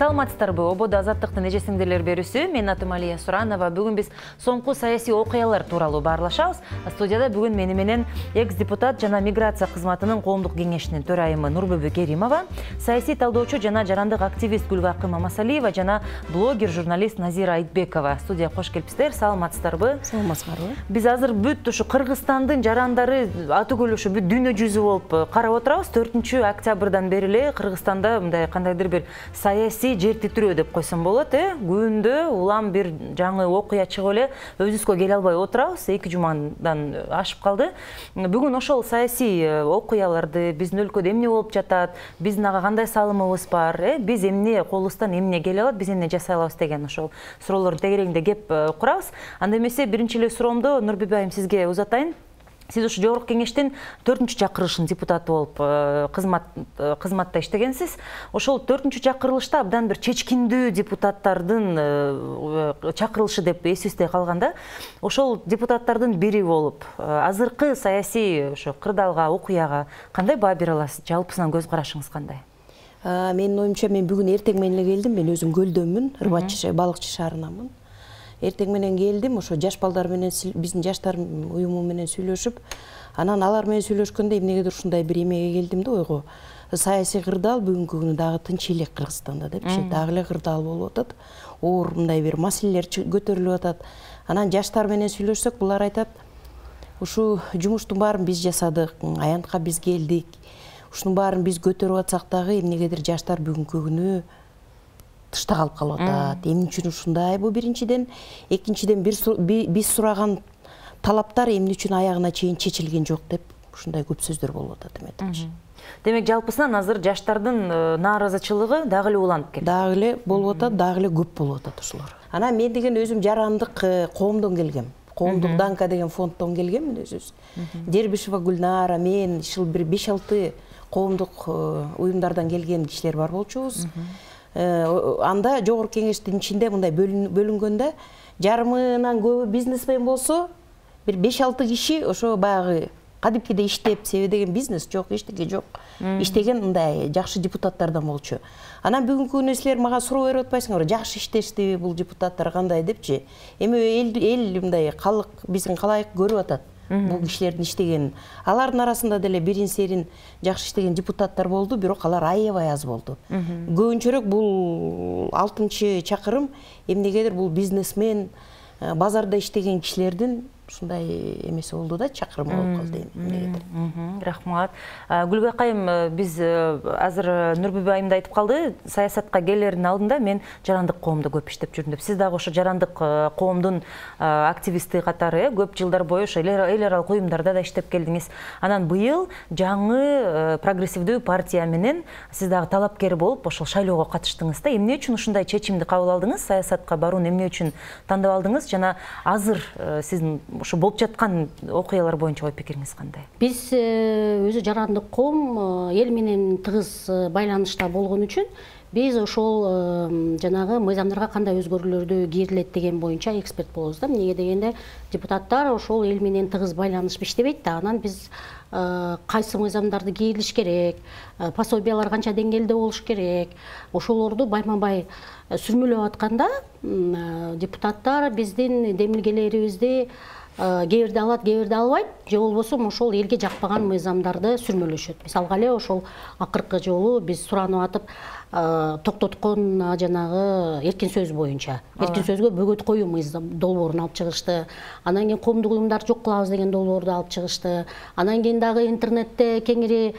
Саламатсыздарбы? Ободо азаттыктын эжесиңдерлер берүүсү. Мен атым Алия Суранова. Бүгүн биз соңку саясий окуялар тууралуу баарлашабыз. Студияда бүгүн мени менен экс-депутат жана миграция кызматынын коомдук кеңешинин төрайымы Нурбүбү Керимова, саясий талдоочу жана жарандык активист Гүлбакы Мамасалиева жана блогер, журналист Назира Айтбекова. Студияга кош келипсиздер. Саламатсыздарбы? Саламатсыздарбы? Биз азыр бүт ушу Кыргызстандын жарандары атүгүл ушу бүт дүйнө жүзү болуп карап отурабыз. 4-октябрдан бери эле Кыргызстанда мындай кандайдыр бир саясий жер титирөө деп койсом болот, күндө улам бир жаңы окуя чыгып эле өзүбүзгө келе албай отурабыз. 2 жумадан ашып калды. Бүгүн ошол саясий окуяларды, биздин өлкөдө эмне болуп жатат, биздин ага кандай салымыбыз бар, биз эмне колубуздан эмне келе алат, биз эмне жасай алабыз деген ошол суроолордун тегерегинде кеп курабыз. Анда эмесе биринчи эле суроомду Нурбүбү айым сизге узатайын. Сиз ушу жогорку кеңештин 4-чакырылышынын депутаты болуп кызматта иштегенсиз. Ошол 4-чакырылышта абдан бир чечкиндүү депутаттардын чакырылышы деп эсибизде калганда, ошол депутаттардын бири болуп, азыркы саясий ошо кырдаалга, окуяга кандай баа бере аласыз? Жалпысынан көз карашыңыз кандай? Менин оюмча, мен бүгүн эртең менен эле келдим. Мен өзүм Көлдөнмүн, Ырбачы балыкчы шаарынанмын. Эртең менен келдим, ошо жаш балдар менен, биздин жаштар уюму менен сүйлөшүп, анан алар менен сүйлөшкөндө эмнегедир ушундай бир эмеге келдим да, ойго. Саясий кырдаал бүгүнкү күнү дагы тынч элек Кыргызстанда депчи, дагы эле кырдаал болуп атат. Оор мындай бир маселелер көтөрүлүп атат. Анан жаштар менен сүйлөшсөк, булар айтат, ушу жумуштун баарын биз жасадык, аянтка биз келдик. Ушунун баарын биз көтөрүп атсак дагы эмнегедир жаштар бүгүнкү күнү тышта калып атат. Эмне үчүн ушундай? Бул биринчиден, экинчиден биз сураган талаптар эмне үчүн аягына чейин чечилген жок деп ушундай көп сөздөр болуп атат эметчи. Демек, жалпысынан азыр жаштардын нааразычылыгы дагы эле уланып келди. Дагы эле болуп атат, дагы эле көп болуп атат ушулар. Анан мен деген өзүм жарандык коомдон келгем. Коомдук Данка деген фонддон келгем мен өзүбүз. Дербишева Гүлнара, мен бир 5-6 коомдук уюмдардан келген кишилер бар болчубуз. Анда жогорку кеңештин ичинде мындай бөлүнгөндө, жарымынан көбү бизнесмен болсо, бир 5-6 киши ошо баягы кадимкиде иштеп, себеби деген бизнес жок, эчтеке жок, иштеген мындай жакшы депутаттардан болчу. Анан бүгүнкү күнү силер мага суроо берип атпайсыңарбы, жакшы иштештиби бул депутаттар кандай депчи? Эми эл мындай калык биздин калайык көрүп атат бул кишилердин иштегенин. Алардын арасында деле бирин-серин жакшы иштеген депутаттар болду, бирок алар аябай аз болду. Көбүнчөрөөк бул 6-чакырым эмнегедир бул бизнесмен, базарда иштеген кишилердин ушундай эмеси болду да, чакырымы болуп калды эмнегедир. Рахмат. Гүлбак айым, биз азыр Нурбүбү айымда айтып калды, саясатка келердин алдында мен жарандык коомдо көп иштеп жүрдүм деп. Сиз дагы ошо жарандык коомдун активисти катары көп жылдар бою ошо эл аралык уюмдарда да иштеп келдиңиз. Анан быйыл жаңы прогрессивдүү партия менен сиз дагы талапкер болуп ошол шайлоого катыштыңыз да. Эмне үчүн ушундай чечимди кабыл алдыңыз? Саясатка барууну эмне үчүн тандап алдыңыз? Жана азыр сиздин ошо болуп жаткан окуялар боюнча ой пикириңиз кандай? Биз өзү жарандык коом эл менен тыгыз байланышта болгон үчүн биз ошол жанагы мыйзамдарга кандай өзгөрүүлөрдү кирилет деген боюнча эксперт болобуз да. Эмнеге дегенде депутаттар ошол эл менен тыгыз байланышып иштебейт да. Анан биз кайсы мыйзамдарды кирилиш керек, пособиялар канча деңгээлде болуш керек, ошолорду байма-бай сүрмөлөп атканда депутаттар биздин демилгелерибизди кээ бирде алат, кээ бирде албайт, же болбосо ошол элге жакпаган мыйзамдарды сүрмөлөшөт. Мисалга эле ошол акыркы жолу биз суранып атып токтоткон жанагы эркин сөз боюнча, эркин сөзгө бөгөт коюу мыйзам долбоорун алып чыгышты. Анан кийин коомдук уюмдарды жок кылабыз деген долбоорду алып чыгышты. Анан кийин дагы интернетте кеңири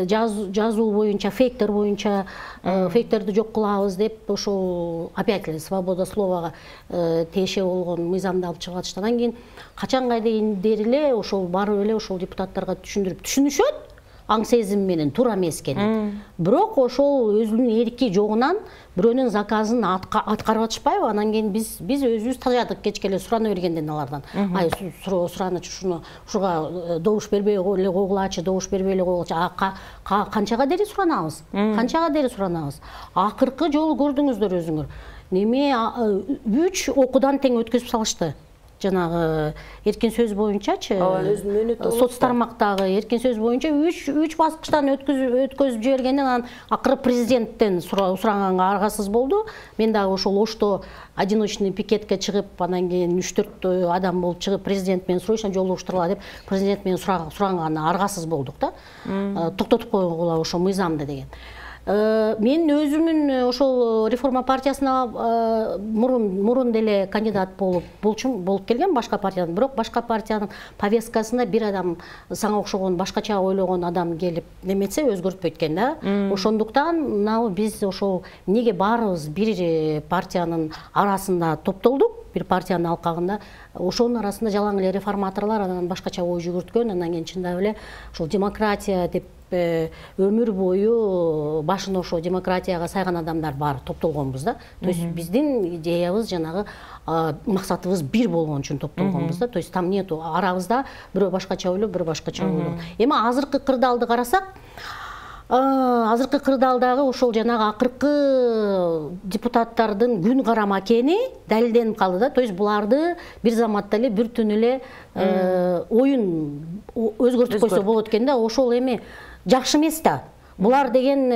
жазуу боюнча, фейктер боюнча, фейктерди жок кылабыз деп ошол опять эле свобода словага тиеше болгон мыйзамды алып чыгып атышты. Анан кийин качанга дейин эле ошол барып эле ошол депутаттарга түшүнүшөт, аң сезим менен туура эмес экенин. Бирок ошол өзүнүн эрки жогунан бирөөнүн заказын аткарып атышпайбы? Анан кийин биз өзүбүз тажадык кечке эле сурана бергенден алардан. Ай, сураначы ушуга добуш бербей эле койгулачы, добуш бербей эле койгулачы. Канчага дери суранабыз? Канчага дери суранабыз? Акыркы жолу көрдүңүздөр өзүңөр. Неме 3 окуудан тең өткөзүп салышты. жанагы эркин сөз боюнчачы, соц тармактагы эркин сөз боюнча 3 баскычтан өткөзүп жибергенден анан акыры президенттен сураганга аргасыз болду. Мен дагы ошол Ошто одиночный пикетке чыгып, анан кийин 3-4 адам болуп чыгып, президент менен срочно жолугуштургула деп, президент менен сураганга аргасыз болдук да. Токтотуп койгула ошо мыйзамды деген. Мен өзүмүн ошол реформа партиясына мурун деле кандидат болуп келген башка партиядан, бирок башка партиянын повесткасында бир адам сага окшогон башкача ойлогон адам келип неметсе өзгөртпөйт экен да. Ошондуктан мынау биз ошол эмнеге баарыбыз бир партиянын арасында топтолдук, бир партиянын алкагында, ошонун арасында жалаң эле реформаторлор анан башкача ой жүгүрткөн, анан кийин чындап эле ошол демократия деп өмүр бою башын ошо демократияга сайган адамдар бар топтолгонбуз да. То есть биздин идеябыз жанагы максатыбыз бир болгон үчүн топтолгонбуз да. То есть там нету арабызда бирөө башкача ойлойт, бирөө башкача ойлойт. Эми азыркы кырдаалды карасак, азыркы кырдаалдагы ошол жанагы акыркы депутаттардын күн карама экени далилденип калды да. То есть буларды бир заматта эле бир түнү эле оюн өзгөртүп койсо болот экен да. Ошол эми жакшы эмес да. Булар деген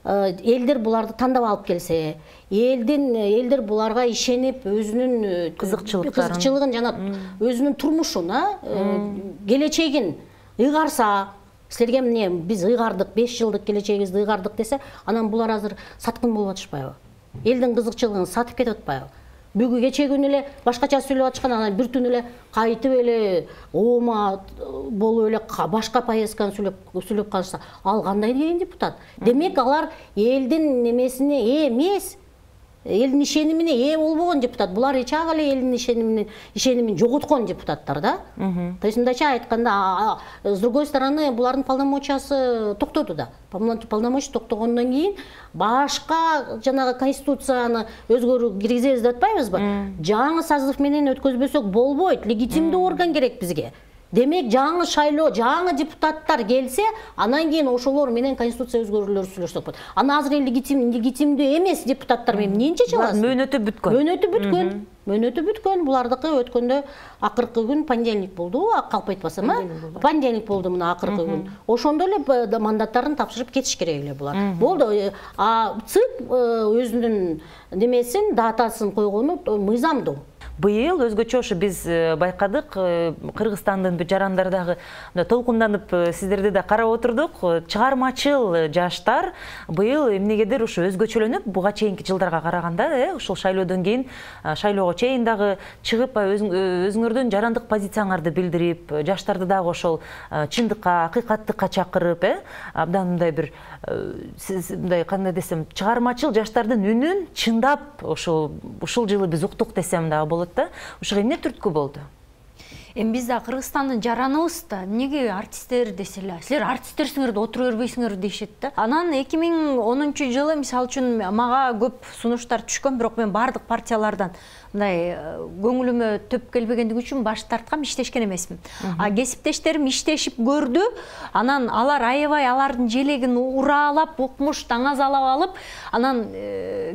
элдер буларды тандап алып келсе, элдер буларга ишенип өзүнүн кызыкчылыгын жана өзүнүн турмушун, келечегин ыйгарса, силерге эмне биз ыйгардык, 5 жылдык келечегибизди ыйгардык десе, анан булар азыр саткын болуп атышпайбы? Элдин кызыкчылыгын сатып кетип атпайбы? Бүгүн кече күнү эле башкача сүйлөп атышкан, анан бир түнү эле кайтып эле оома болуп эле башка повестканы сүйлөп калышса, ал кандай деген депутат? Демек алар элдин немесине эмес, элдин ишенимине ээ болбогон депутат. Булар ичак эле элдин ишенимин жоготкон депутаттар да. То есть мындайча айтканда, с другой стороны, булардын полномочиясы токтоду да. Полномочия токтогондон кийин башка жанагы конституцияны киргизебиз деп атпайбызбы? Жаңы созыв менен өткөзбөсөк болбойт. Легитимдүү орган керек бизге. Демек жаңы шайлоо, жаңы депутаттар келсе, анан кийин ошолор менен конституция өзгөрүүлөрү сүйлөшсөк болот. Анан азыр легитимдүү эмес депутаттар менен эмне чечип аласыз? Мөөнөтү бүткөн. Булардыкы өткөндө акыркы күн понедельник болду, калп айтпасам, понедельник болду мына акыркы күн. Ошондо эле мандаттарын тапшырып кетиш керек эле булар. Болду. ЦИК өзүнүн немесин, датасын койгону мыйзамдуу. Быйыл өзгөчө ошо биз байкадык, Кыргызстандын жарандардагы толкунданып сиздерди да карап отурдук. Чыгармачыл жаштар быйыл эмнегедир ошо өзгөчөлөнүп, буга чейинки жылдарга караганда, ошол шайлоодон кийин, шайлоого чейин дагы чыгып, өзүңөрдүн жарандык позицияңарды билдирип, жаштарды дагы ошол чындыкка, акыйкаттыкка чакырып, абдан мындай бир мындай кандай десем, чыгармачыл жаштардын үнүн чындап ушул жылы биз уктук десем дагы болот да. Ошого эмне түрткү болду? Эми биз да Кыргызстандын жараныбыз да, эмнеге артисттер деселе, силер артисттерсиңер да отура бербейсиңер дешет да. Анан 2010-жылы мисалы үчүн мага көп сунуштар түшкөн, бирок мен бардык партиялардан мындай көңүлүмө төп келбегендиги үчүн баш тарткам, иштешкен эмесмин. Кесиптештерим иштешип көрдү. Анан алар аябай алардын желегин ураалап, укмуш таңазалап алып, анан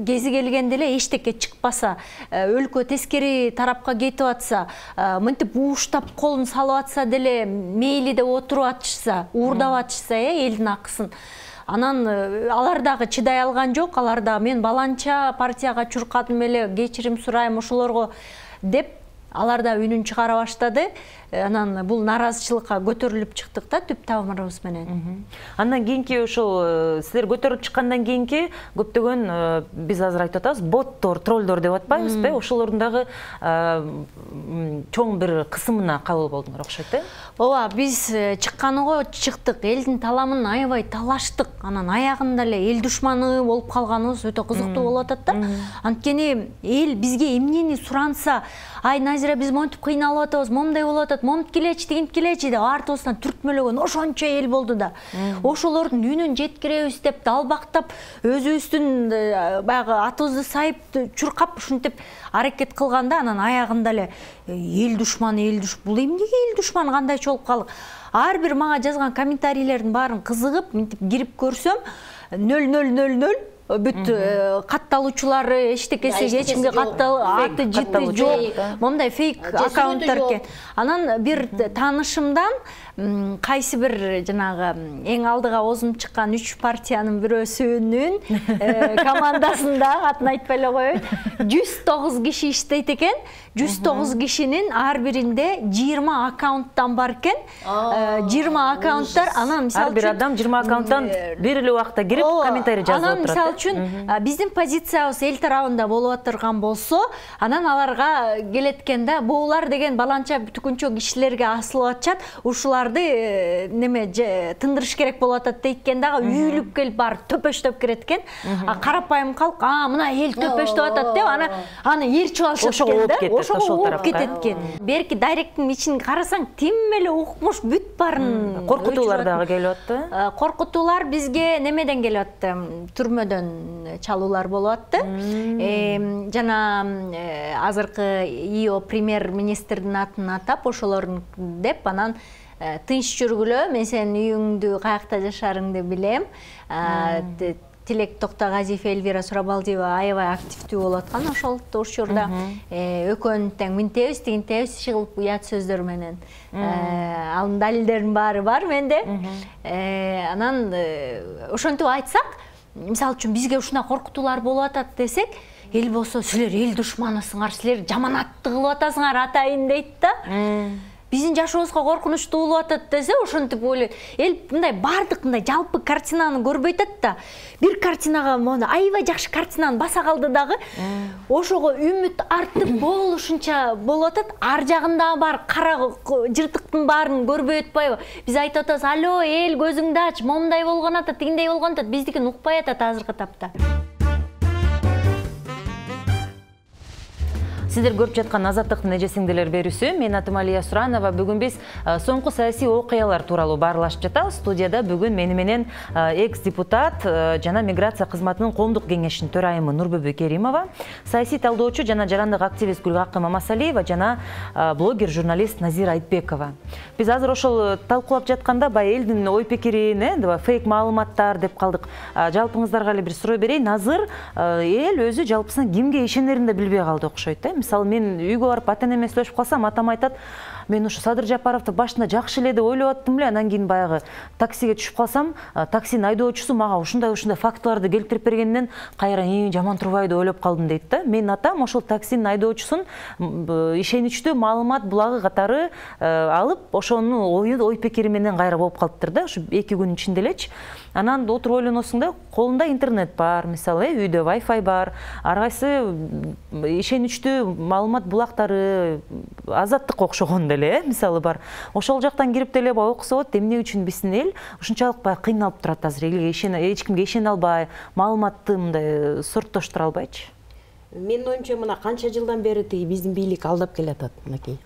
кези келгенде эле эчтеке чыкпаса, өлкө тескери тарапка кетип атса, мынтип ууштап колун салып атса деле мейли деп отуруп атышса, уурдап атышса, элдин акысын. Анан алар дагы чыдай алган жок, алар да мен баланча партияга чуркадым эле, кечирим сурайм ошолорго деп, алар да үнүн чыгара баштады. Анан бул наразычылыкка көтөрүлүп чыктык да түп тамырыбыз менен. Андан кийинки ошол силер көтөрүлүп чыккандан кийинки көптөгөн биз азыр айтып атабыз, боттор, троллдор деп атпайбызбы? Ошолордун дагы чоң бир кысымына кабыл болдуңар окшойт да? Ооба, биз чыкканыга чыктык, элдин таламын аябай талаштык. Анан аягында эле эл душманы болуп калганыбыз өтө кызыктуу болуп атат да. Анткени эл бизге эмнени суранса, ай Назира биз монтип кыйналып атабыз, момундай болуп атат, момунт келечи, тигинт келечи деп артыбыздан түртмөлөгөн ошончо эл болду да. Ошолордун үнүн жеткиребиз деп далбактап, өзүбүздүн баягы атыбызды сайып, чуркап ушинтип аракет кылганда, анан аягында эле эл душман, бул эмнеге эл душман, кандайча болуп калдык. Ар бир мага жазган комментарийлердин баарын кызыгып, мынтип кирип көрсөм, 0000 бүт катталуучулары эчтекеси эч кимге аты жыты жок, момундай фейк аккаунттар экен. Анан бир таанышымдан кайсы бир жанагы эң алдыга озунуп чыккан 3 партиянын бирөөсүнүн командасында, атын айтпай эле коеюн, 109 киши иштейт экен. 109 кишинин ар биринде 20 аккаунттан бар экен. 20 аккаунттар, анан мисалы үчүн бир адам 20 аккаунттан бир эле убакта кирип комментарий жазып отурат. Анан мисалы үчүн биздин позициябыз эл тарабында болуп атырган болсо, анан аларга келет экен да, булар деген баланча түкүнчө кишилерге асылып атышат, ушуларды неме тындырыш керек болуп атат дейт экен дагы, үйүлүп келип бар төпөштөп кирет экен. Карапайым калк, мына эл төпөштөп атат деп, аны ээрчип алышат экен да. Ошого ооп кетет экен. Берки директтин ичин карасаң, тим эле укмуш бүт барын. Коркутуулар дагы келип атты. Коркутуулар бизге немеден келип атты, түрмөдөн чалуулар болуп атты. Жана азыркы ИО премьер-министрдин атын атап, ошолорун деп, анан тынч жүргүлө, мен сенин үйүңдү каякта жашарыңды билем. Тилек Токтогазиев, Эльвира Сурабалдиева аябай активдүү болуп аткан ошол учурда. Экөөнүн тең мынтебиз, тигинтебиз чыгып уят сөздөр менен. Анын далилдеринин баары бар менде. Анан ошентип айтсак, мисалы үчүн бизге ушундай коркутуулар болуп атат десек, эл болсо силер эл душманысыңар, силер жаманатты кылып атасыңар атайын дейт да. Биздин жашообузга коркунучтуу болуп атат десе, ошентип ойлойт. Эл мындай бардык мындай жалпы картинаны көрбөй атат да. Бир картинага монда аябай жакшы картинаны баса калды дагы, ошого үмүт артып болушунча болуп атат. Ар жагында бар кара жыртыктын баарын көрбөй атпайбы? Биз айтып атабыз, алло, эл көзүңдү ач, момундай болгон атат, тигиндей болгон атат. Биздикин укпай атат азыркы тапта. Сиздер көрүп жаткан Азаттыктын эже-сиңдилер берүүсү. Мен атым Алия Суранова. Бүгүн биз соңку саясий окуялар тууралуу баарлашып жатабыз. Студияда бүгүн мени менен экс-депутат жана миграция кызматынын коомдук кеңешинин төрайымы Нурбүбү Керимова, саясий талдоочу жана жарандык активист Гүлгакы Мамасалиева жана блогер, журналист Назира Айтбекова. Биз азыр ошол талкуулап жатканда бай элдин ой пикирин, фейк маалыматтар деп калдык. Жалпыңыздарга эле бир суроо берейин. Азыр эл өзү жалпысынан кимге ишенерин да билбей калды окшойт. Мисалы, мен үйгө барып ата-энеме сүйлөшүп калсам, атам айтат, мен ушу Садыр Жапаровду башында жакшы эле деп ойлоп аттым эле, анан кийин баягы таксиге түшүп калсам, таксинин айдоочусу мага ушундай фактыларды келтирип бергенден кайра жаман турбайбы деп ойлоп калдым дейт да. Менин атам ошол таксинин айдоочусун ишеничтүү маалымат булагы катары алып, ошонун ой пикири менен кайра болуп калыптыр да, ушу 2 күн ичинде элечи. Анан отуруп ойлоносуң да, колунда интернет бар, мисалы, үйдө Wi-Fi бар, ар кайсы ишеничтүү маалымат булактары, Азаттык окшогон деле, мисалы бар. Ошол жактан кирип деле окусо болот, эмне үчүн биздин эл ушунчалык баягы кыйналып турат азыр, эч кимге ишене албай, маалыматты мындай сорттоштура албайчы. Менин оюмча, мына канча жылдан бери биздин бийлик алдап келатат, мынакей.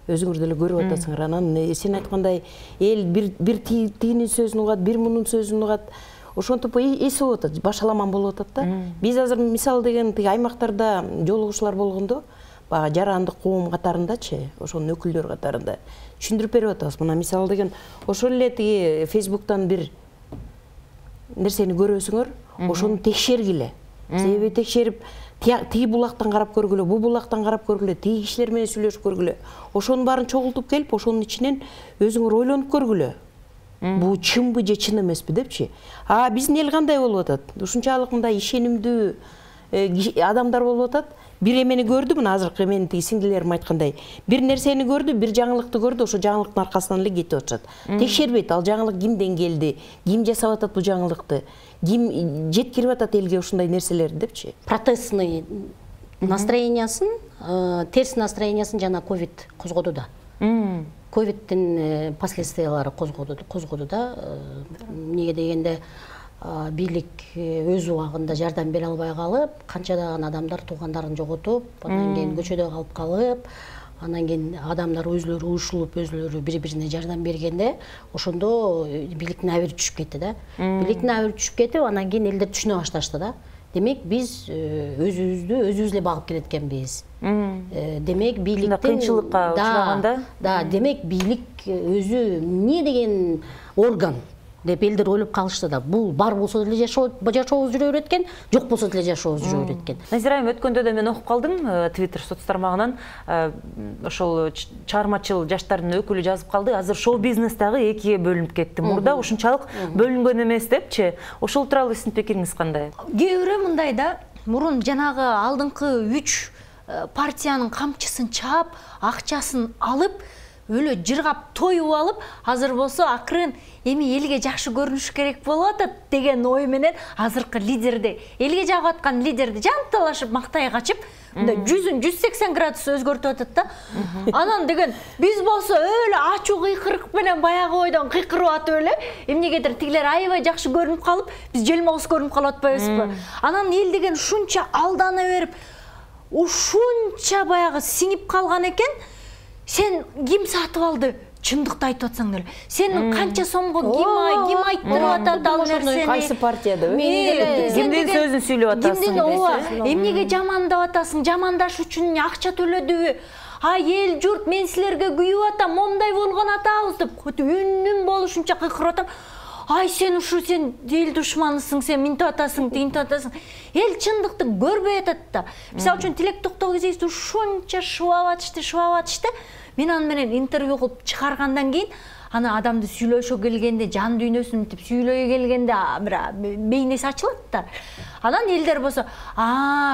Өзүңөр деле көрүп атасыңар. Анан сен айткандай эл бир тигинин сөзүн угат, бир мунун сөзүн угат. Ошентип эсип атат, башаламан болуп атат да. Биз азыр мисал деген аймактарда жолугушуулар болгондо, баягы жарандык коом катарындачы, ошонун өкүлдөрү катарында түшүндүрүп берип атабыз. Мына мисал деген ошол эле Фейсбуктан бир нерсени көрөсүңөр, ошону текшергиле. Себеби текшерип тиги булактан карап көргүлө, бу булактан карап көргүлө, тиги кишилер менен сүйлөшүп көргүлө. Ошонун баарын чогултуп келип, ошонун ичинен өзүңөр ойлонуп көргүлө. Бу чынбы же чын эмеспи депчи. Биздин эл кандай болуп атат? Ушунчалык мындай ишенимдүү адамдар болуп атат. Бир эмени көрдү, мына азыркы менин тиги сиңдилерим айткандай, бир нерсени көрдү, бир жаңылыкты көрдү, ошо жаңылыктын аркасынан эле кетип атышат. Текшербейт, ал жаңылык кимден келди, ким жасап атат бу жаңылыкты, ким жеткирип атат элге ушундай нерселерди депчи. Протестный настроениясын, терс настроениясын жана ковид козгоду да. Ковидтин последствиялары козгоду да. Эмнеге дегенде бийлик өз убагында жардам бере албай калып, канчадаган адамдар туугандарын жоготуп, анан кийин көчөдө калып калып, анан кийин адамдар өзлөрү ушулуп, өзлөрү бири-бирине жардам бергенде, ошондо бийликтин абири түшүп кетти да. Бийликтин абири түшүп кетип, анан кийин элдер түшүнө башташты да. Демек биз өзүбүздү өзүбүз эле багып келеткенбиз. Демек бийликтин кыйынчылыкка учураганда, демек бийлик өзү эмне деген орган. деп элдер ойлоп калышты да. Бул бар болсо деле жашообуз жүрө берет экен, жок болсо деле жашообуз жүрө берет экен. Назира айым, өткөндө да мен окуп калдым Twitter соц тармагынан, ошол чыгармачыл жаштардын өкүлү жазып калды. Азыр шоу бизнес дагы экиге бөлүнүп кетти. Мурда ушунчалык бөлүнгөн эмес депчи. Ошол тууралуу сиздин пикириңиз кандай? Кээ бирөө мындай да, мурун жанагы алдыңкы 3 партиянын камчысын чаап, акчасын алып, өлө жыргап тоюп алып, азыр болсо акырын эми элге жакшы көрүнүш керек болуп атат деген ой менен азыркы лидерди, элге жагып аткан лидерди жанталашып мактай качып, мындай 180 градус өзгөртүп атат да. Анан деген биз болсо өлө ачуу кыйкырык менен баягы ойдон кыйкырып атып эле, эмнегедир тигилер аябай жакшы көрүнүп калып, биз желмогуз көрүнүп калып атпайбызбы? Анан эл деген ушунча алдана берип, ушунча баягы сиңип калган экен. Сен ким сатып алды? Чындыкты айтып атсаң деле. Сен канча сомго ким айттырып атат ал нерсени? Кайсы партияда? Кимдин сөзүн сүйлөп атасың? Эмнеге жамандап атасың? Жамандаш үчүн акча төлөдүбү? Ай эл журт, мен силерге күйүп атам, момундай болгон атабыз деп үнүм болушунча кыйкырып атам. Ай сен эл душманысың, сен минтип атасың, тигинтип атасың. Эл чындыкты көрбөй атат да. Мисалы үчүн Тилек Токтогузовду ушунча шубап атышты. Мен аны менен интервью кылып чыгаргандан кийин, аны адамды сүйлөшө келгенде, жан дүйнөсүн мынтип сүйлөй келгенде бир бейнеси ачылат да. Анан элдер болсо,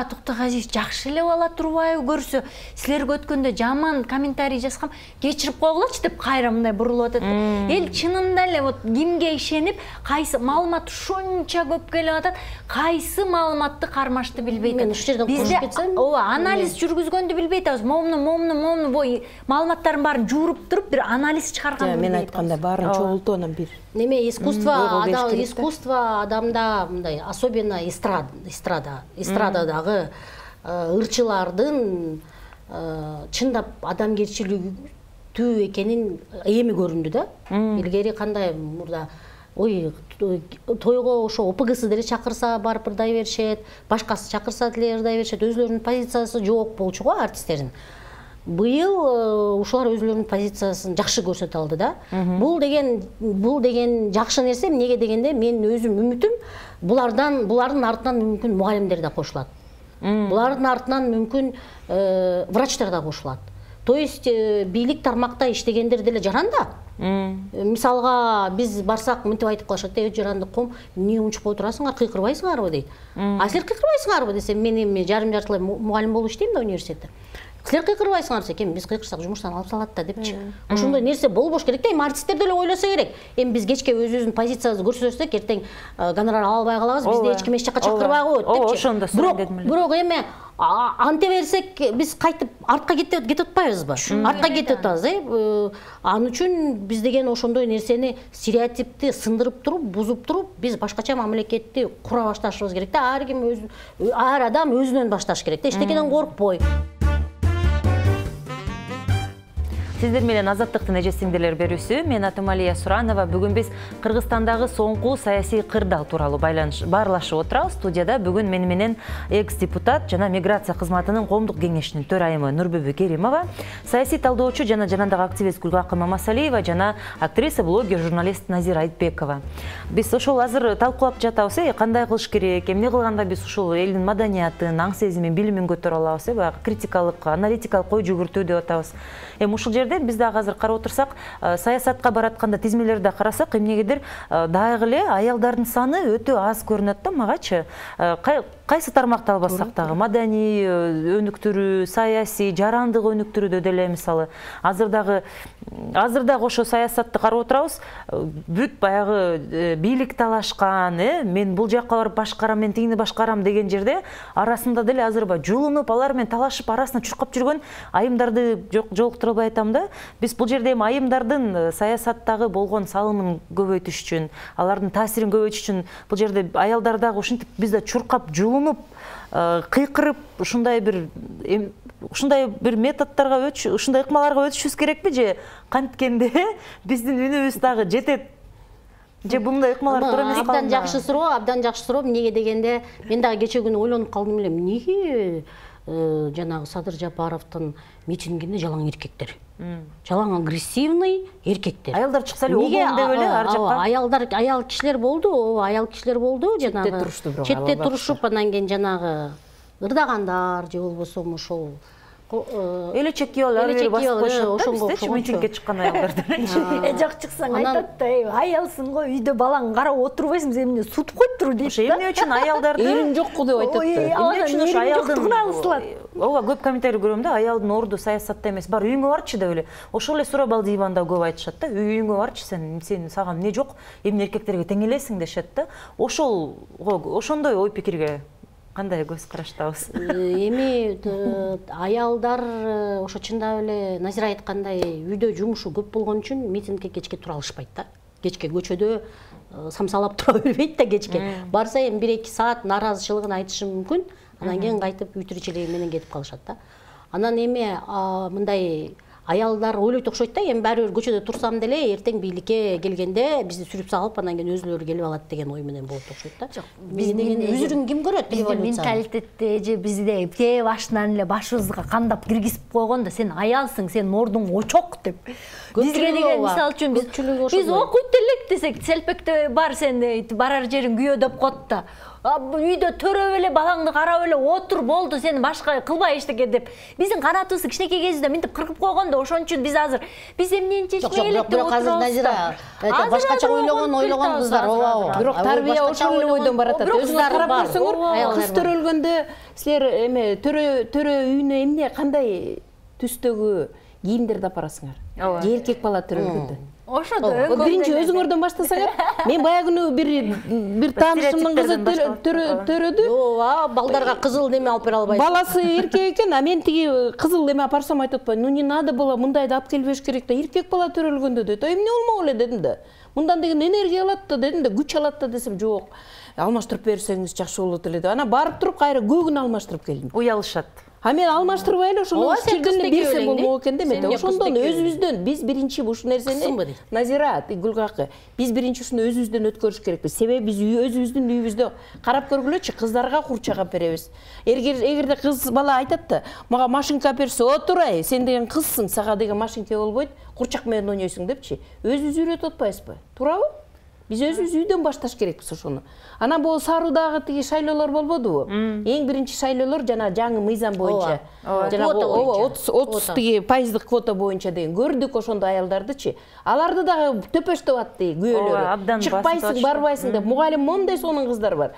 Токтогазиев жакшы эле бала турбайбы көрсө, силерге өткөндө жаман комментарий жазгам, кечирип койгулачы деп кайра мындай бурулуп атат. Эл чынында эле вот кимге ишенип, кайсы маалымат ушунча көп келип атат, кайсы маалыматты кармашты билбей атат. Мен ушул жерден кошуп кетсем, анализ жүргүзгөндү билбей атабыз. Момуну бой маалыматтардын баарын жууруп туруп бир анализ чыгарганды билбей атабыз. Айтканда баарын чогултуп анан бир. Неме искусство адамда мындай, особенно эстрададагы ырчылардын чындап адамгерчиликтүү экенин эми көрүндү да. Илгери кандай мурда тойго ошо ОПГсы деле чакырса барып ырдай беришет, башкасы чакырса деле ырдай беришет, өзүлөрүнүн позициясы жок болчу го артисттердин. Быйыл ушулар өзүлөрүнүн позициясын жакшы көрсөтө алды да. Бул деген жакшы нерсе. Эмнеге дегенде мен өзүм үмүтүм булардын артынан мүмкүн мугалимдер да кошулат. Булардын артынан мүмкүн врачтар да кошулат. То есть бийлик тармакта иштегендер деле жаранда. Мисалга биз барсак мынтип айтып калышат, жарандык ком, эмне унчукпой турасыңар, кыйкырбайсыңарбы дейт. А силер кыйкырбайсыңарбы десем, мен эми жарым-жартылай мугалим болуп иштейм да университетте. Силер кыйкырбайсыңар десем, биз кыйкырсак жумуштан алып салат да депчи. Ошондой нерсе болбош керек да, эми артисттер деле ойлосо керек. Эми биз кечке өзүбүздүн позициябызды көрсөтсөк, эртең гонорар ала албай калабыз, бизди эч ким эч жака чакырбай коет депчи. Ошондо дедим эле. Бирок эми анте берсек, биз кайтып артка кетип атпайбызбы? Артка кетип атабыз, Ал үчүн биз деген ошондой нерсени стереотипти сындырып туруп, бузуп туруп, биз башкача мамлекетти кура башташыбыз керек да. Ар адам өзүнөн башташ керек да, эчтекеден коркпой. Сиздер менен Азаттыктын эже сиңдилер берүүсү. Мен атым Алия Суранова. Бүгүн биз Кыргызстандагы соңку саясий кырдаал тууралуу баарлашып отурабыз. Студияда бүгүн мени менен экс-депутат жана миграция кызматынын коомдук кеңешинин төрайымы Нурбүбү Керимова, саясий талдоочу жана жарандык активист Гүлгакы Мамасалиева жана актриса, блогер, журналист Назира Айтбекова. Биз ошол азыр талкуулап жатабыз, кандай кылыш керек, эмне кылганда биз ушул элдин маданиятын, аң сезимин, билимин көтөрө алабыз, баягы критикалык, аналитикалык ой жүгүртүү деп атабыз. Ушул жерде биз дагы азыр карап отурсак, саясатка баратканда тизмелерди карасак, эмнегедир дагы эле аялдардын саны өтө аз көрүнөт да магачы. Кайсы тармакты албасак дагы, маданий өнүктүрүү, саясий, жарандык өнүктүрүүдө деле мисалы, азыр дагы ошо саясатты карап отурабыз, бүт баягы бийлик талашкан, мен бул жакка барып башкарам, мен тигини башкарам деген жерде арасында деле азыр жулунуп, алар менен талашып, арасына чуркап жүргөн айымдарды жолуктура албай атам да. Биз бул жерде айымдардын саясаттагы болгон салымын көбөйтүш үчүн, алардын таасирин көбөйтүш үчүн бул жерде аялдар дагы ушинтип бизде чуркап, жулунуп, кыйкырып, ушундай бир методдорго ушундай ыкмаларга өтүшүбүз керекпи же канткенде биздин үнүбүз дагы жетет? Же мындай ыкмалар туура эмес калды? Абдан жакшы суроо. Эмнеге дегенде, мен дагы кече күнү ойлонуп калдым эле, эмнеге жанагы Садыр Жапаровдун митингинде жалаң эркектер. Жалаң агрессивный эркектер. Аялдар чыкса эле обон деп эле ар жакка. Аял кишилер болду, жанагы четте турушуп, анан кийин жанагы ырдагандар же болбосо ошол эле чекки алып басып коюшат. Митингге чыккан аялдарды. Жок чыксаң айтат да, аялсың го, үйдө балаң карап отурбайсың, сени эмне сутуп коюптур дейт. Эмне үчүн аялдарды? Элим жокку деп айтат да. Эмне үчүн ошо аялдын ооба көп комментарий көрөм да, аялдын орду саясатта эмес, бар үйүңө барчы деп эле. Ошол эле сурабал диванда көп айтышат да, үйүңө барчы, сен сага эмне жок, эмне эркектерге тең элесиң дешет да. Ошондой ой пикирге кандай көз караштабыз? Эми аялдар ошо чындап эле Назира айткандай үйдө жумушу көп болгон үчүн митингге кечке тура алышпайт да. Кечке көчөдө самсалап тура бербейт да кечке. Барса эми 1-2 саат нааразычылыгын айтышы мүмкүн, анан кийин кайтып үй тиричилиги менен кетип калышат да. Анан эми мындай аялдар ойлойт окшойт да, эми баары бир көчөдө турсам деле эртең бийликке келгенде бизди сүрүп салып, анан кийин өзүлөрү келип алат деген ой менен болот окшойт да. Биздин үзүрүн ким көрөт? Биздин менталитетте же бизде те башынан эле башыбызга кандап киргизип койгон да, сен аялсың, сенин ордуң очок деп. Бизге деген мисалы үчүн биз окуйт элек десек, селпекте бар, сен барар жериң күйөө деп коет да. Үйдө төрөп эле балаңды карап эле отур, болду, сени башка кылбай эчтеке деп. Биздин канатыбызды кичинекей кезибизде мынтип кыркып койгон да, ошон үчүн биз азыр эмнени чечпей элек деп отурабыз. Азыр Назира башкача ойлогон кыздар, ооба. Бирок тарбия ошол эле ойдон баратат. Өзүңөр карап көрсөңөр, кыз төрөлгөндө силер эме төрө үйүнө эмне кандай түстөгү кийимдерди апарасыңар? Же эркек бала төрөлгөндө? Ошодо биринчи өзүңөрдөн баштасаңар. Мен баягы күнү бир таанышымдын кызы төрөдү. Ооба, балдарга кызыл неме алып бере албайсың. Баласы эркек экен, а мен тиги кызыл эме апарсам айтып атпайм. Ну не надо было, мындайды алып келбеш керек да. Эркек бала төрөлгөндө дейт. Эмне болмок эле дедим да. Мындан деген энергия алат да дедим да, күч алат да десем, жок. Алмаштырып берсеңиз жакшы болот эле деп. Ана барып туруп кайра көгүн алмаштырып келдим. Уялышат. А мен алмаштырбай эле ошону жерден берсем болмок экен демек. Ошондон өзүбүздөн биз биринчи ушул нерсени Назира, Гүлгакы, биз биринчи ушуну өзүбүздөн өткөрүш керекпиз. Себеби биз өзүбүздүн үйүбүздө карап көргүлөчү, кыздарга курчак алып беребиз. Эгерде кыз бала айтат да, мага машинка берсе, отурай, сен деген кызсың, сага деген машинка болбойт, курчак менен ойнойсуң депчи. Өзүбүз үйрөтүп атпайбызбы? Туурабы? Биз өзүбүз үйдөн башташ керекпиз ошону. Анан бул Саруудагы тиги шайлоолор болбодубу? Эң биринчи шайлоолор жана жаңы мыйзам боюнча. Жанагы 30% квота боюнча деген көрдүк ошондо аялдардычы. Аларды дагы төпөштөп атты күйөөлөрү. Чыкпайсың, барбайсың деп. Мугалим мондай сонун кыздар бар.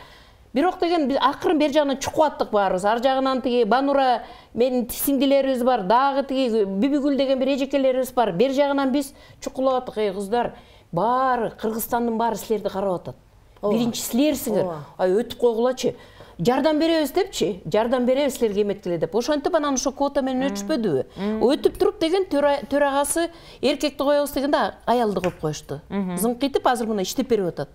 Бирок деген биз акырын бер жагынан чукуп аттык баарыбыз. Ар жагынан тиги Банура менин сиңдилерибиз бар, дагы тиги Бибигүл деген бир эжекелерибиз бар. Бер жагынан биз чукулап аттык. Эй кыздар, баары Кыргызстандын баары силерди карап атат. Биринчи силерсиңер. Өтүп койгулачы. Жардам беребиз депчи. Жардам беребиз силерге эметкиле деп. Ошентип анан ошо квота менен өтүшпөдүбү? Өтүп туруп деген төрагасы эркекти коебуз дегенде аялды коюп коюшту. Зыңкыйтып азыр мына иштеп берип атат.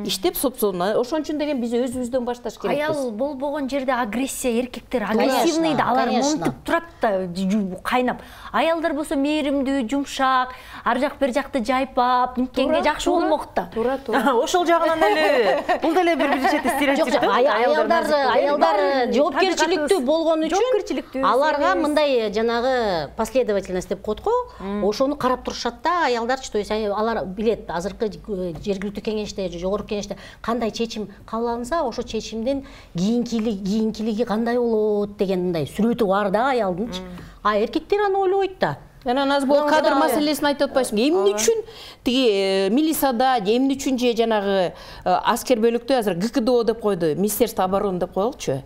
Иштеп сопсону. Ошон үчүн деген биз өзүбүздөн башташ керекпиз. Аял болбогон жерде агрессия, эркектер агрессивный да, алар монтип турат да, кайнап. Аялдар болсо мээримдүү, жумшак, ар жак бер жакты жайпап, никкенге жакшы болмок да. Туура. Ошол жагынан эле бул деле бир чети стереотип. Аялдар жоопкерчиликтүү болгон үчүн аларга мындай жанагы последовательность деп коет го, ошону карап турушат да аялдарчы. То есть алар билет азыркы жергиликтүү кеңеште, жогорку кеңеште кандай чечим кабыл алынса, ошо чечимдин кийинкилиги кандай болот деген мындай сүрөтү бар да аялдынчы. А эркектер аны ойлобойт да. Анан аз бул кадр маселесин айтып атпайсыңбы? Эмне үчүн тиги милицияда, эмне үчүн же жанагы аскер бөлүктө азыр ГКДО деп койду, Министерство обороны деп коелучу.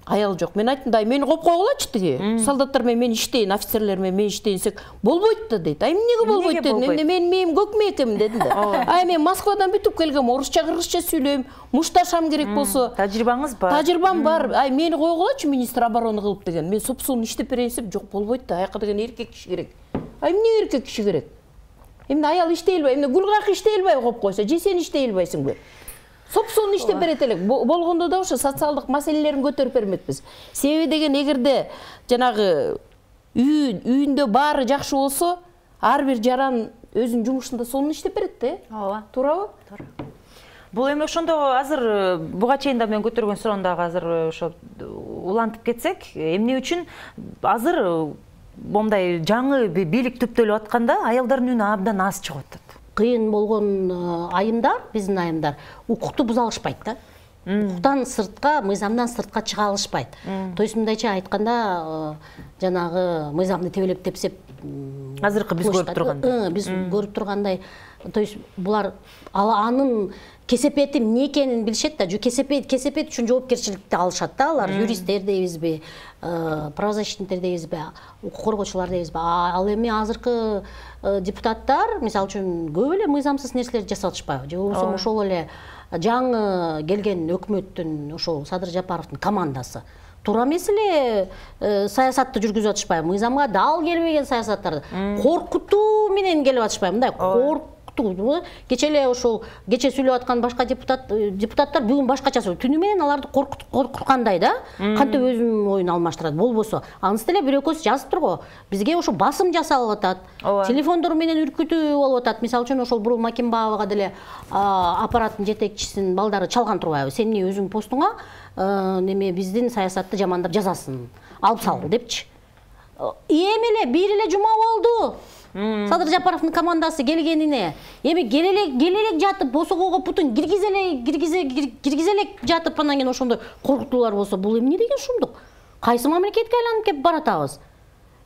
Аял жок. Мен айттым да, мени коюп койгулачы тиги. Солдаттар менен иштейин, офицерлер менен иштейин десек, болбойт да дейт. Эмнеге болбойт дедим. Мен көк мээкемин дедим да. Мен Москвадан бүтүп келгем, орусча, кыргызча сүйлөйм, мушташам керек болсо. Тажрыйбаңыз бар. Тажрыйбам бар. Мени койгулачы министр обороны кылып деген. Мен сопсуун иштеп берейин десем, жок болбойт да. Аяка деген эркек киши керек. Эмне эркек киши керек? Эмне аял иштей албай, эмне Гүлгак иштей албай коюп койсо, же сен иштей албайсыңбы? Сопсуун иштеп берет элек. Болгондо да ошо социалдык маселелерин көтөрүп бермекпиз. Себеби деген эгерде жанагы үйүндө баары жакшы болсо, ар бир жаран өзүнүн жумушунда сонун иштеп берет да. Ооба. Туурабы? Бул эми ошондо азыр буга чейин да мен көтөргөн суроондогу азыр ошо улантып кетсек, эмне үчүн азыр момдай жаңы бийлик түптөлүп атканда аялдардын үнү абдан аз чыгып атат? Кыйын болгон айымдар, биздин айымдар укукту буза алышпайт да. Укуктан сыртка, мыйзамдан сыртка чыга алышпайт. То есть мындайча айтканда, жанагы мыйзамды тебелеп тепсеп, азыркы биз көрүп тургандай. Биз көрүп тургандай, то есть булар анын кесепети эмне экенин билишет да, кесепет үчүн жоопкерчиликти алышат да, алар юристтер дейбизби, правозащитниктер дейбизби, укук коргоочулар дейбизби. Ал эми азыркы депутаттар, мисалы үчүн, көп эле мыйзамсыз нерселерди жасап атышпайбы? Же болбосо ошол эле жаңы келген өкмөттүн, ошол Садыр Жапаровдун командасы туура эмес эле саясатты жүргүзүп атышпайбы? Мыйзамга дал келбеген саясаттарды коркутуу менен келип атышпайбы? Мындай коркутуу. Кече эле ошол кече сүйлөп аткан башка депутаттар бүгүн башкача сүйлөйт. Түнү менен аларды коркуткандай да, кантип өзүнүн оюн алмаштырат. Болбосо, анысы деле бир экөөсү жазыптыр го. Бизге ошо басым жасалып атат. Телефондор менен үркүтүү болуп атат. Мисалы үчүн ошол Бурул Макимбаевага деле аппараттын жетекчисинин балдары чалган турбайбы? Сен эмне өзүң постуңа неме биздин саясатты жамандап жазасын, алып сал депчи. Эми эле бир эле жума болду. Садыр Жапаровдун командасы келгенине. Эми келелек жатып, босогого бутун киргизелек жатып, анан кийин ошондой коркутуулар болсо, бул эмне деген шумдук? Кайсы мамлекетке айланып кеп баратабыз?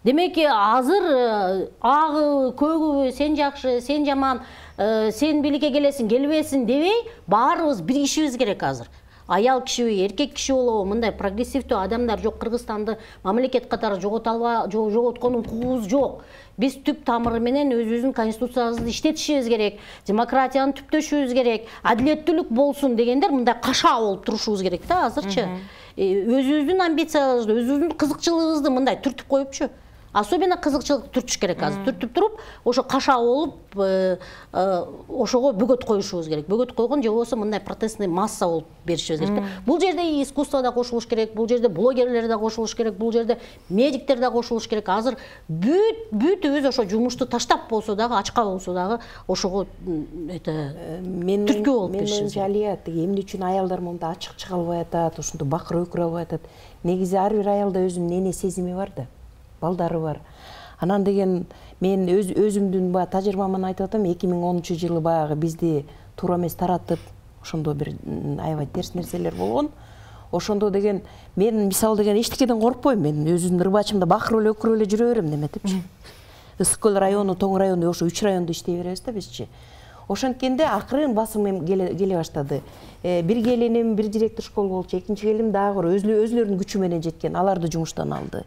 Демек, азыр агы, көгүбү, сен жакшы, сен жаман, сен бийликке келесиң, келбесиң дебей, баарыбыз биригишибиз керек азыр. Аял кишиби, эркек киши болобу, мындай прогрессивдүү адамдар жок, Кыргызстанды мамлекет катары жоготкон укугубуз жок. Биз түп тамыры менен өзүбүздүн конституциябызды иштетишибиз керек, демократияны түптөшүбүз керек, адилеттүүлүк болсун дегендер мындай кашаа болуп турушубуз керек да азырчы. Өзүбүздүн амбициябызды, өзүбүздүн кызыкчылыгыбызды мындай түртүп коюпчу. Особенно кызыкчылык түртүш керек азыр. Түртүп туруп, ошо кашаа болуп, ошого бөгөт коюшубуз керек. Бөгөт койгон же болбосо мындай протестный масса болуп беришибиз керек. Бул жерде искусство да кошулуш керек, бул жерде блогерлер да кошулуш керек, бул жерде медиктер да кошулуш керек. Азыр бүтүбүз ошо жумушту таштап болсо дагы, ачка болсо дагы ошого түрткү болуп беришибиз керек. Алия, эмне үчүн аялдар монда ачык чыга албай атат, ошондо бакыр өкүрө албай атат? Негизи ар бир аялда өзүнүн эне сезими бар да. Балдары бар. Анан деген мен өзүмдүн тажрыйбаман айтып атам, 2010-жылы баягы бизди туура эмес таратып, ошондо бир аябай терс нерселер болгон. Ошондо деген мен мисал деген эчтекеден коркпойм. Мен өзүмдүн ырбачымда бакырып эле өкүрүп эле жүрө берем неметипчи. Ысык көл району, Тоң району, ошо 3 райондо иштей беребиз да бизчи. Ошонткенде акырын басым келе баштады. Бир келиним бир директор школ болчу, экинчи келиним дагы өзлөрүнүн күчү менен жеткен, аларды жумуштан алды.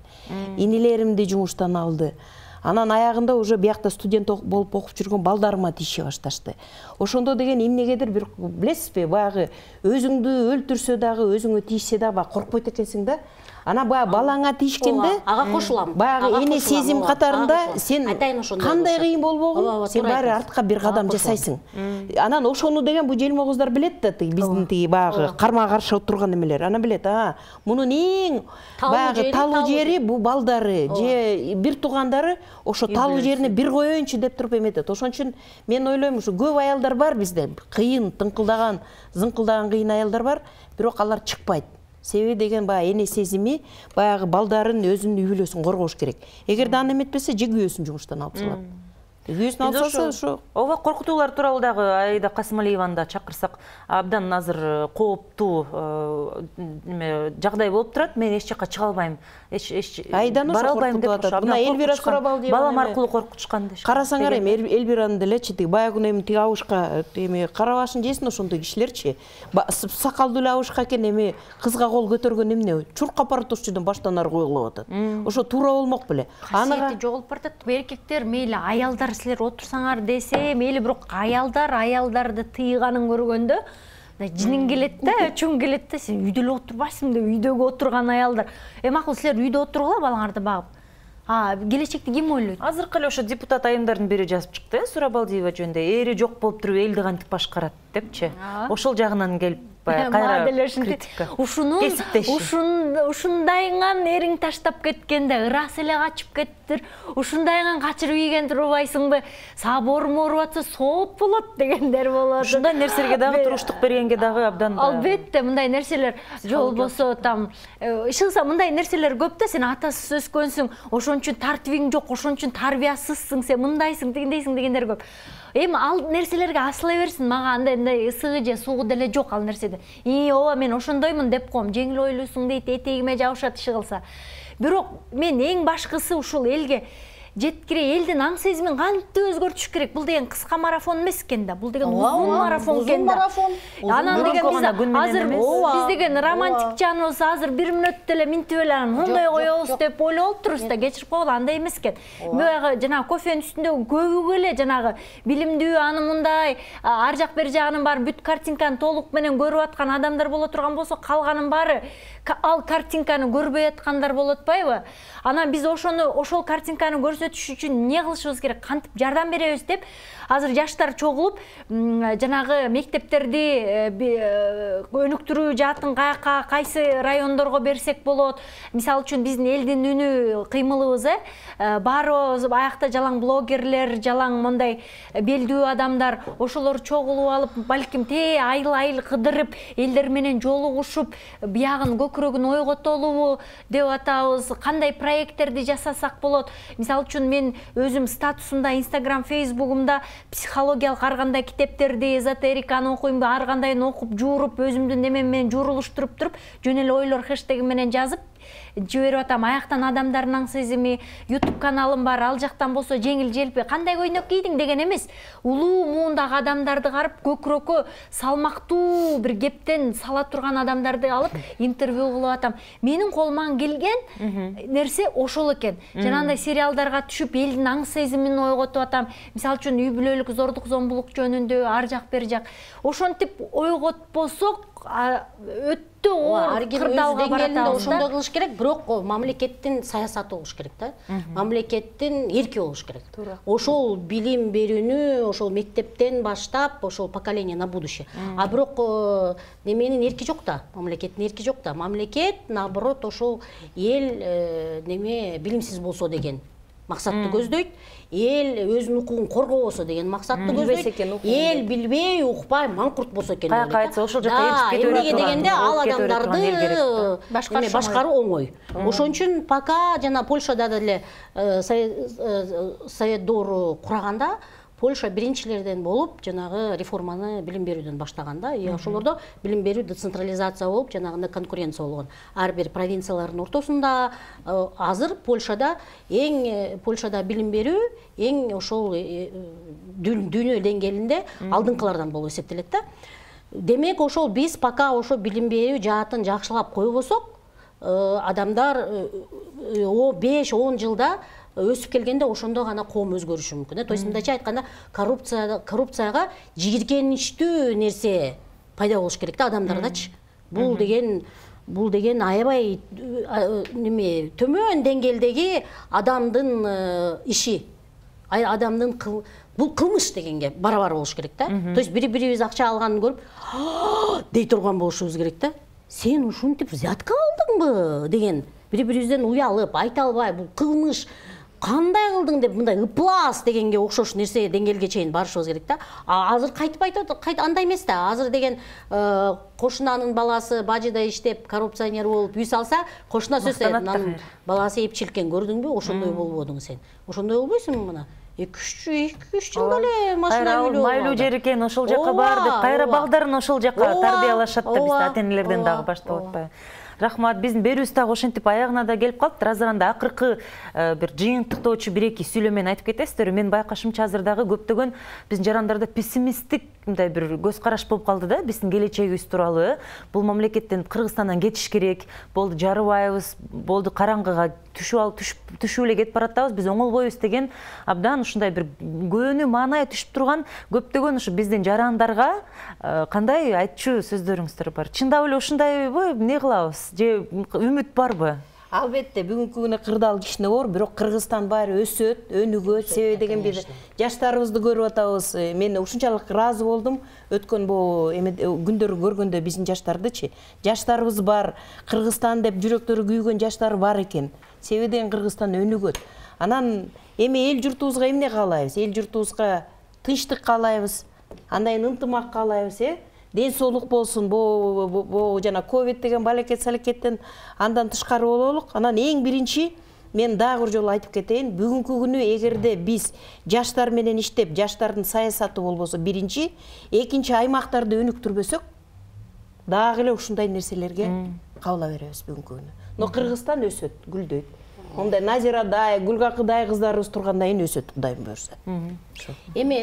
Инилеримди жумуштан алды. Анан аягында уже биякта студент болуп окуп жүргөн балдарыма тийише башташты. Ошондо деген эмнегедир бир билесизби, баягы өзүңдү өлтүрсө дагы, өзүңө тийишсе дагы коркпойт экенсиң да. Ана баягы балаңа тийишкенде, ага кошулам. Баягы эне сезим катарында сен кандай кыйын болбогун, сен баары артка бир кадам жасайсың. Анан ошону деген бу желмо кыздар билет да, биздин тиги баягы карма каршы отурган эмелер. Ана билет, мунун эң баягы талуу жери бу балдары же бир туугандары ошо талуу жерине бир коеюнчу деп туруп эметет. Ошон үчүн мен ойлойм, ушу көп аялдар бар бизде, кыйын, тыңкылдаган, зыңкылдаган кыйын аялдар бар, бирок алар чыкпайт. Себеби деген баягы эне сезими, баягы балдарын өзүнүн үй бүлөсүн коргош керек. Эгерде аны эметпесе, же күйөөсүн жумуштан алып салат. Күйөөсүн алып салса, ошо ооба коркутуулар тууралуу дагы Аида Касымалиеваны да чакырсак, абдан азыр кооптуу жагдай болуп турат. Мен эч жакка чыга албайм, Айданы бара албайм деп атат. Мына Элвира Сурабалдиева балам аркылуу коркутушкан дешкен. Карасаңар эми Элвиранын делечи баягы күнү эми тиги абышка эми кара башын жесин ошондой кишилерчи. Сакалдуу эле абышка экен, эми кызга кол көтөргөн эмне? Чуркап баратушчудан баштан ары коюлуп атат. Ошо туура болмок беле. Касиети жоголуп баратат. Эркектер мейли аялдар силер отурсаңар десе, мейли бирок аялдарды тыйганын көргөндө жинин келет да, өчүң келет да, сен үйдө эле отурбайсың деп, үйдөгү отурган аялдар. Макул силер үйдө отургула балаңарды багып. Келечекти ким ойлойт? Азыркы эле ошо депутат айымдардын бири жазып чыкты, Сурабалдиева жөнүндө. Эри жок болуп туруп элди кантип башкарат депчи. Ошол жагынан келип баягы кайра критика. Ушундайыңан эриң таштап кеткенде ырас эле качып кеттир. Ушундайыңан качырып ийген турбайсыңбы? Саборум ооруп атса сооп болот дегендер болот. Ушундай нерселерге дагы туруштук бергенге дагы абдан. Албетте, мындай нерселер болбосо там ишылса мындай нерселер көп да, сен атасыз өскөнсүң, ошон үчүн тартибиң жок, ошон үчүн тарбиясызсың, сен мындайсың, тигиндейсиң дегендер көп. Эми ал нерселерге асыла берсин, мага андай ысыгы же суугу деле жок ал нерседе. Ооба мен ошондоймун деп коем, жеңил ойлуусуң дейт, этегиме жабышат иши кылса. Бирок мен эң башкысы ушул элге жеткире, элдин аң сезимин кантип өзгөртүш керек. Бул деген кыска марафон эмес экен да, бул деген узун марафон экен да. Анан деген биз деген романтик жаныбыз азыр 1 мүнөттө эле минтип эле мындай коебуз деп ойлоп отурбуз да, кечирип койгула, андай эмес экен. Баягы жанагы кофенин үстүндөгү көбүгө эле жанагы билимдүү, аны мындай ар жак бер жагынын баары бүт картинканы толук менен көрүп аткан адамдар боло турган болсо, калганын баары ал картинканы көрбөй аткандар болот атпайбы? Анан биз ошол картинканы көрсөтүш үчүн эмне кылышыбыз керек, кантип жардам беребиз деп азыр жаштар чогулуп, жанагы мектептерди өнүктүрүү жаатын кайсы райондорго берсек болот. Мисалы үчүн биздин элдин үнү кыймылыбыз, баарыбыз аякта жалаң блогерлер, жалаң мындай белдүү адамдар, ошолор чогулуп алып, балким айыл кыдырып, элдер менен жолугушуп, биягын көкүрөгүн ойготолубу деп атабыз, кандай проекттерди жасасак болот. Мисалы үчүн мен өзүм статусумда, Instagram, Facebook'umda психологиялык ар кандай китептерди, эзотериканы окуйм, ар кандайын окуп, жууруп, өзүмдүн немем менен жуурулуштуруп туруп, жөн эле ойлор хэштеги менен жазып жиберип атам. Аяктан адамдардын аң сезими, YouTube каналым бар, ал жактан болсо жеңил желпи кандай көйнөк кийдиң деген эмес, улуу муундагы адамдарды карап, көкүрөккө салмактуу бир кептен сала турган адамдарды алып интервью кылып атам. Менин колуман келген нерсе ошол экен. Жанагындай сериалдарга түшүп, элдин аң сезимин ойготуп атам. Мисалы үчүн үй бүлөлүк зордук зомбулук жөнүндө ар жак бер жак. Ошентип ойготпосок өттө оор кырдаалга баратабыз. Ошондой кылыш керек, бирок мамлекеттин саясаты болуш керек да. Мамлекеттин эрки болуш керек. Ошол билим берүүнү ошол мектептен баштап, ошол поколение на будущее. А бирок неменин эрки жок да, мамлекеттин эрки жок да. Мамлекет наоборот ошол эл билимсиз болсо деген максатты көздөйт. Эл өзүнүн укугун коргобосо деген максатты көздөйт. Эл билбей, укпай, маңкурт болсо экен. Каяка айтса ошол жакка эришип кетип дегенде ал адамдарды башкаруу оңой. Ошон үчүн пока жана Польшада деле совет доору кураганда Польша биринчилерден болуп, жанагы реформаны билим берүүдөн баштаганда, ошолордо билим берүү децентрализация болуп, жанагындай конкуренция болгон. Ар бир провинциялардын ортосунда азыр Польшада билим берүү эң ошол дүйнө деңгээлинде алдыңкылардан болуп эсептелет да. Демек ошол биз пока ошо билим берүү жаатын жакшылап койбосок, адамдар 5-10 жылда өсүп келгенде ошондо гана коом өзгөрүшү мүмкүн. То есть мындайча айтканда, коррупцияга жийиркеничтүү нерсе пайда болуш керек да адамдардачы. Бул деген аябай төмөн деңгээлдеги адамдын иши, адамдын бул кылмыш дегенге барабар болуш керек да. То есть бири-бирибиз акча алганын көрүп, дей турган болушубуз керек да. Сен ушинтип взятка алдыңбы деген, бири-бирибизден уялып, айта албай, бул кылмыш, кандай кылдың деп мындай ыплас дегенге окшош нерсе деңгээлге чейин барышыбыз керек да. Азыр кайтып айтат, андай эмес да. Азыр деген кошунанын баласы бажыда иштеп, коррупционер болуп үй салса, кошуна сөз анын баласы эпчилкен, көрдүңбү? Ошондой болбодуң сен. Ошондой болбойсуңбу мына? 2-3 жылда эле машина үйлөө. Майлуу жер экен, ошол жака бар деп, кайра балдарын ошол жака тарбиялашат да, биз ата-энелерден дагы баштап атпайбы. Рахмат, биздин берүүбүз дагы ошентип аягына да келип калды. Разыранда акыркы бир жыйынтыктоочу 1-2 сүйлөмөнү айтып кетесиздер. Мен байкашымча азыр дагы көптөгөн биздин жарандарда пессимисттик мындай бир көз караш болуп калды да, биздин келечегибиз тууралуу. Бул мамлекеттен, Кыргызстандан кетиш керек, болду жарыбайбыз, болду караңгыга түшүп эле кетип баратабыз, биз оңолбойбуз деген абдан ушундай бир көөнү маанай түшүп турган көптөгөн ушу биздин жарандарга кандай айтчу сөздөрүңүздөр бар? Чындап эле ушундайбы, эмне кылабыз? Же үмүт барбы? Албетте бүгүнкү күнү кырдаал кичине бар, бирок Кыргызстан баары өсөт, өнүгөт. Себеби деген бир жаштарыбызды көрүп атабыз. Мен ушунчалык ыраазы болдум өткөн күндөрү көргөндө биздин жаштардычы. Жаштарыбыз бар, Кыргызстан деп жүрөктөрү күйгөн жаштар бар экен. Себеби деген Кыргызстан өнүгөт. Анан эми эл журтубузга эмне каалайбыз? Эл журтубузга тынчтык каалайбыз. Андайын ынтымак каалайбыз, ден соолук болсун. Бу жана ковид деген балекет-салекеттен андан тышкары бололук. Анан эң биринчи мен дагы бир жолу айтып кетейин, бүгүнкү күнү эгерде биз жаштар менен иштеп, жаштардын саясаты болбосо биринчи, экинчи аймактарды өнүктүрбөсөк, дагы эле ушундай нерселерге кабыла беребиз бүгүнкү күнү. Но Кыргызстан өсөт, гүлдөйт. Ондай Назирадай, Гүлгакыдай кыздарыбыз тургандайын өсөт, Кудайым буйрса. Эми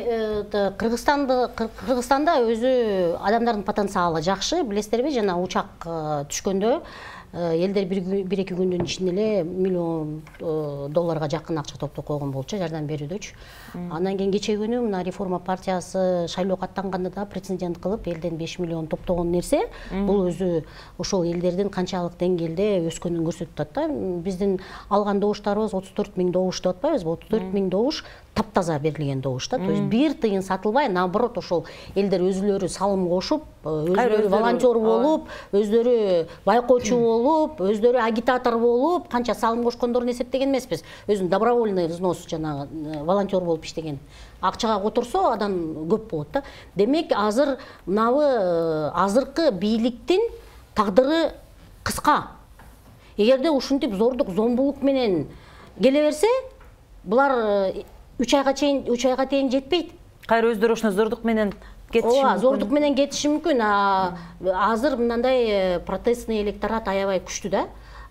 Кыргызстанда өзү адамдардын потенциалы жакшы, билесиздерби, жана учак түшкөндө элдер бир-эки күндүн ичинде эле $1 миллион жакын акча топтоп койгон болчу, жардам берүүдөчү. Андан кийин кечээ күнү мына реформа партиясы шайлоо каттанганда да прецедент кылып элден 5 миллион топтогон нерсе, бул өзү ошол элдердин канчалык деңгээлде өскөнүн көрсөтүп атат да. Биздин алган добуштарыбыз 34 000 добуш деп атпайбызбы? 34 000 добуш таптаза берилген добуш да. То есть бир тыйын сатылбай, наоборот, ошол элдер өзүлөрү салым кошуп, өзүлөрү волонтер болуп, өзүлөрү байкоочу болуп, өзүлөрү агитатор болуп, канча салым кошкондорун эсептеген эмеспиз. Өзүн добровольный взнос жанагы волонтер болуп иштеген. Акчага которсо адам көп болот да. Демек, азыр мынабы азыркы бийликтин тагдыры кыска. Эгерде ушинтип зордук, зомбулук менен келе берсе, булар 3 айга чейин жетпейт. Кайра өздөрү ошону зордук менен кетиши мүмкүн. Зордук менен кетиши мүмкүн. Азыр мындай протестный электорат аябай күчтүү да.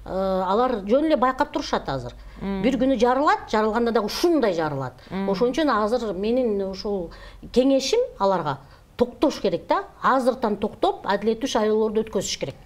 Алар жөн эле байкап турушат азыр. Бир күнү жарылат, жарылганда да ушундай жарылат. Ошон үчүн азыр менин ушул кеңешим аларга токтош керек да. Азыртан токтоп, адилеттүү шайлоолорду өткөзүш керек.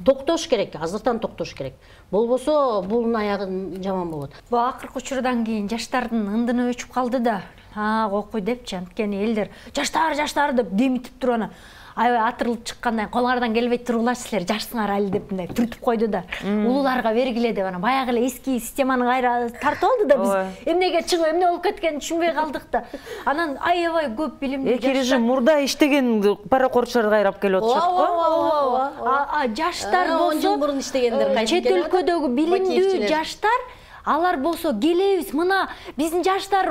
Токтош керек, азыртан токтош керек. Болбосо булдун аягы жаман болот. Бул акыркы учурдан кийин жаштардын ындыны өчүп калды да. Окуй депчи, анткени элдер жаштар деп демитип туруп анан аябай атырылып чыккандай, колуңардан келбей тургулачы силер, жашсыңар али деп мындай түртүп койду да. Улууларга бергиле деп анан баягы эле эски системаны кайра тартып алды да. Биз эмнеге чыгып, эмне болуп кеткенин түшүнбөй калдык да. Анан аябай көп билимдүү жаштар. Режим мурда иштеген паракорчулар кайрап келип атышат го. Жаштар 10 жыл мурун иштегендер, чет өлкөдөгү билимдүү жаштар, алар болсо келебиз, мына биздин жаштар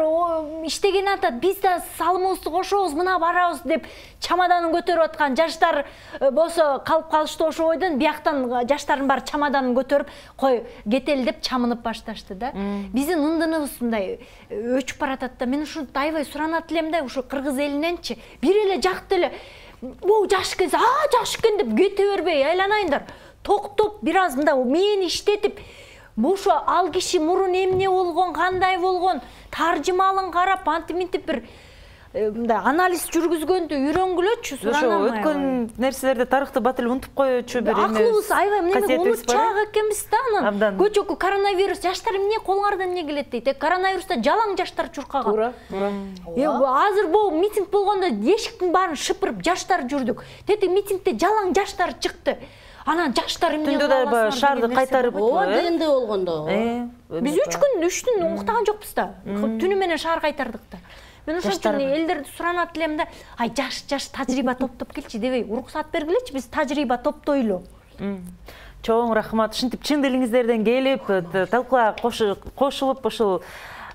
иштеген атат, биз да салымыбызды кошобуз, мына барабыз деп чамаданын көтөрүп аткан жаштар болсо калып калышты ошо ойдон, бияктан жаштардын баары чамаданын көтөрүп, кой кетели деп чамынып башташты да. Биздин ындыныбыз мындай өчүп баратат да. Мен ушу аябай суранат элем да, ушу кыргыз элиненчи бир эле жакты эле жаш экен, жаш экен деп кете бербей айланайындар. Токтоп бир аз мындай мени иштетип, ошо ал киши мурун эмне болгон, кандай болгон, таржымалын карап, антип-минтип бир мындай анализ жүргүзгөндү үйрөнгүлөчү, суранам. Ошо өткөн нерселерди, тарыхты батыл унутуп коючу бир эме. Акылыбыз аябай эмне унутчак экенбиз да анан. Көчөкү коронавирус, жаштар эмне колуңардан эмне келет дейт. Коронавируста жалаң жаштар чуркаган. Туура. Азыр бул митинг болгондо эшиктин баарын шыпырып жаштар жүрдүк. Тети митингде жалаң жаштар чыкты. Анан жаштар эмне кылып аласыңар? Түндө да шаарды кайтарып, ДНД болгондо. Биз 3 түн уктаган жокпуз да. Түнү менен шаар кайтардык да. Мен ошон үчүн элдерди суранат элем да, жаш тажрыйба топтоп келчи дебей, уруксат бергилечи, биз тажрыйба топтойлу. Чоң рахмат. Ушинтип чын дилиңиздерден келип, талкууга кошулуп, ушул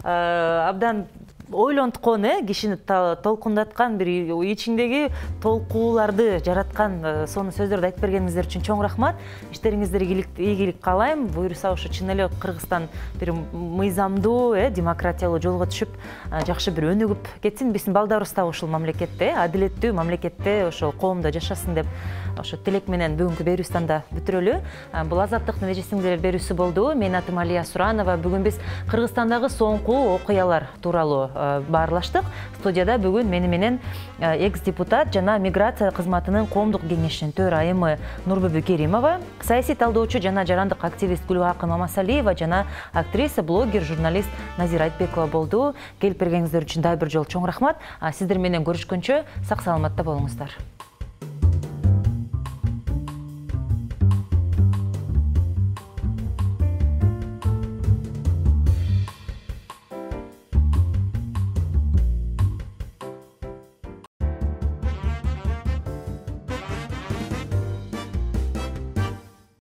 абдан ойлонткон, кишини толкундаткан, бир ичиңдеги толкууларды жараткан сонун сөздөрдү айтып бергениңиздер үчүн чоң рахмат. Иштериңиздерге ийгилик каалайм. Буюрса ошо чын эле Кыргызстан бир мыйзамдуу, демократиялуу жолго түшүп, жакшы бир өнүгүп кетсин. Биздин балдарыбыз да ушул мамлекетте, адилеттүү мамлекетте, ошол коомдо жашасын деп ошо тилек менен бүгүнкү берүүбүздү да бүтүрөлү. Бул Азаттыктын эжесиңдер берүүсү болду. Мен атым Алия Суранова. Бүгүн биз Кыргызстандагы соңку окуялар тууралуу баарлаштык. Студияда бүгүн мени менен экс-депутат жана миграция кызматынын коомдук кеңешинин төрайымы Нурбүбү Керимова, саясий талдоочу жана жарандык активист Гүлгакы Мамасалиева жана актриса, блогер, журналист Назира Айтбекова болду. Келип бергениңиздер үчүн дагы бир жолу чоң рахмат. Сиздер менен көрүшкөнчө сак саламатта болуңуздар.